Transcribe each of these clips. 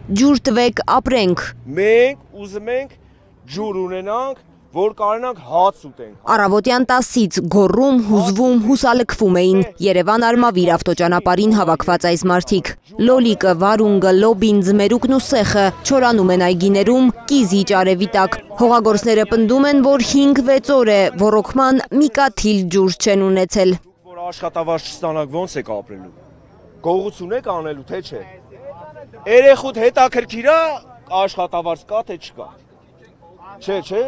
Ջուր տվեք, ապրենք։ Մենք ուզում ենք ջուր ունենանք, որ կարողանանք հաց ուտենք։ Առավոտյան 10-ից գոռում, հուզվում, հուսալքվում էին Երևան Արմավիր ավտոճանապարհին հավաքված այս մարդիկ։ Լոլիկը, վարունգը, լոբին, ձմերուկն ու սեխը չորանում են այգիներում, կիզիչ արևի տակ։ Հողագործները պնդում են, որ 5-6 օր է ոռոգման մի կաթիլ ջուր չեն ունեցել։ Որ աշխատավարձ չստանաք, ոնց եք ապրելու։ Գողություն եք անելու, թե չէ։ Երեխուդ հետաքրքիր է աշխատավարձ կա, թե չկա։ Չէ։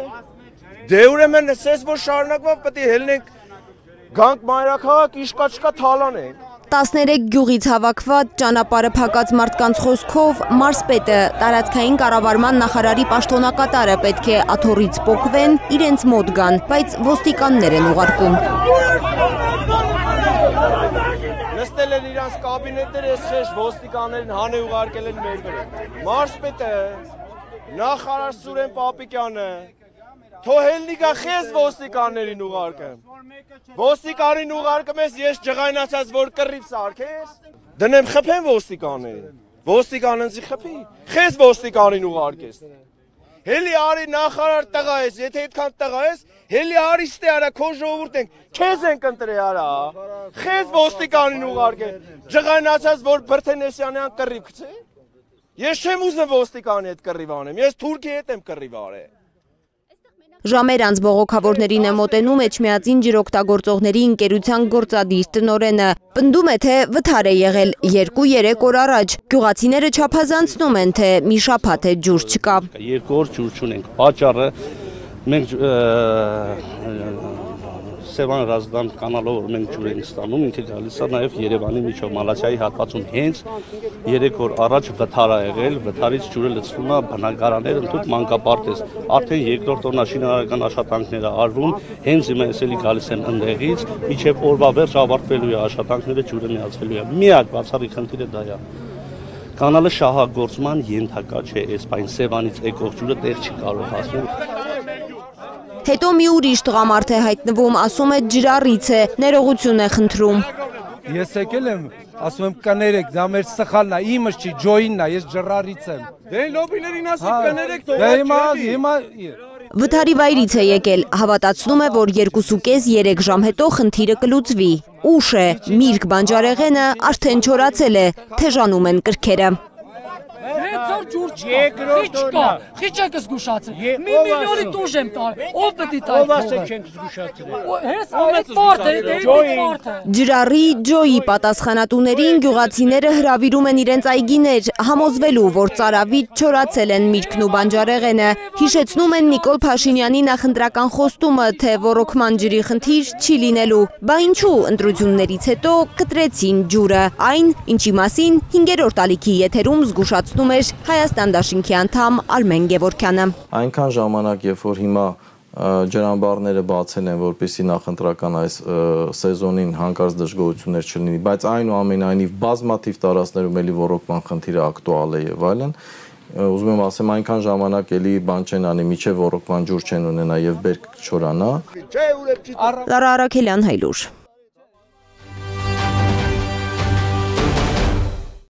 Դե ուրեմն ասես, որ շարունակված պետք է հելնենք գանք մայրաքաղաք, իշկա չկա թալանենք։ 13 գյուղից հավաքված ճանապարհը փակած մարդկանց խոսքով մարզպետը, տարածքային կառավարման նախարարի պաշտոնակատարը պետք է աթոռից պոկվեն, իրենց մոտ գան, բայց ոստիկաններ են ուղարկում։ Նստել են իրանց կաբինետներ, ես խեշ ոստիկաններին հանե ուղարկել են մեր վրա։ Մարզպետը, նախարար Սուրեն Պապիկյանը, թոհելնիկա խես ոստիկաններին ուղարկեմ։ Ոստիկանին ուղարկում ես, ես ջղայնացած, որ կռիվ սարքես, դնեմ խփեմ ոստիկաններին, ոստիկաննձի խփի, խես ոստիկանին ուղարկես։ Հելի արի նախարար տղա ես, եթե այդքան տղա ես, հելի արի ստե արա, քո ժողովուրդ ենք, քեզ ենք ընտրե արա, խես ոստիկանին ուղարկես, ջղայնացած, որ Բրթենեսյանյան կռիվ գցե։ Ես չեմ ուզում ոստիկանի հետ կռիվ անեմ, ես Թուրքիի հետ եմ կռիվ արել։ Ժամեր անց բողոքավորներին է մոտենում Էջմիածին ջրօգտագործողների ընկերության գործադիր տնօրենը։ Պնդում է, թե վթար է եղել 2-3 օր առաջ։ Գյուղացիները չափազանցնում են, թե մի շաբաթ է ջուր չկա։ 2 օր ջուր չունենք։ Պատճառը մենք Սևան Ռազդան կանալով որ մենք ջուր ենք ստանում, ինքը գալիս է նաև Երևանի միջով Մալացիայի հատվածում հենց 3 օր առաջ վթար է եղել, վթարից ջուրը լցվում է բնակարաններ ընդհանուր մանկապարտեզ։ Արդեն երկրորդ օրնա շինարարական աշխատանքները արվում, հենց հիմա էսելի գալիս են ընդեղից, մինչև օրվա վերջ ավարտվելու է աշխատանքները, ջուրը միացվելու է։ Միակ բացառիկ խնդիրը դա է։ Կանալը շահագործման ենթակա չէ, այս բան Սևանից եկող ջուրը տեղ չի կարող հասնել։ Հետո մի ուրիշ տղամարդ է հայտնվում, ասում է ջրառից է, ներողություն է խնդրում։ Ես եկել եմ, ասում եմ կներեք, դա մեր սխալն է, իմս չի, ջոյինն է, ես ջրառից եմ։ Դե լոբիներին ասեք կներեք, թող հիմա Վթարի վայրից է եկել, հավատացնում է, որ 2.5-3 ժամ հետո խնդիրը կլուծվի։ Ուշ է, միրգ բանջարեղենը արդեն չորացել է, թեժանում են կրքերը։ Խիչ եք զգուշացել, մի միլիոնի տուժ եմ տար, ով պետի տար ով ասեք չենք զգուշացրել։ Հես այդ պարտ է, Ջրառի ջոյի պատասխանատուներին գյուղացիները հրավիրում են իրենց այգիներ, համոզվելու, որ ծարավից չորացել են միրգն ու բանջարեղենը, հիշեցնում են Նիկոլ Փաշինյանի նախընտրական խոստումը, թե ոռոգման ջրի խնդիր չի լինելու, բա ինչու ընտրություններից հետո կտրեցին ջուրը, այն, ինչի մասին 5-րդ ալիքի եթերում զգուշացնում էր Հայաստան դաշինքի անդամ Արմեն Գևորգյանը։ Այնքան ժամանակ, երբ որ հիմա ջրամբարները բացել են, որպեսզի նախընտրական այս սեզոնին հանկարծ դժգոհություններ չլինի, բայց այնուամենայնիվ բազմաթիվ տարածքներում էլի ոռոգման խնդիրը ակտուալ է եւ այլն, ուզում եմ ասեմ այնքան ժամանակ էլի բան չեն անի, միջև ոռոգման ջուր չեն ունենա եւ բերք չորանա։ Լարա Արաքելյան, Հայլուր։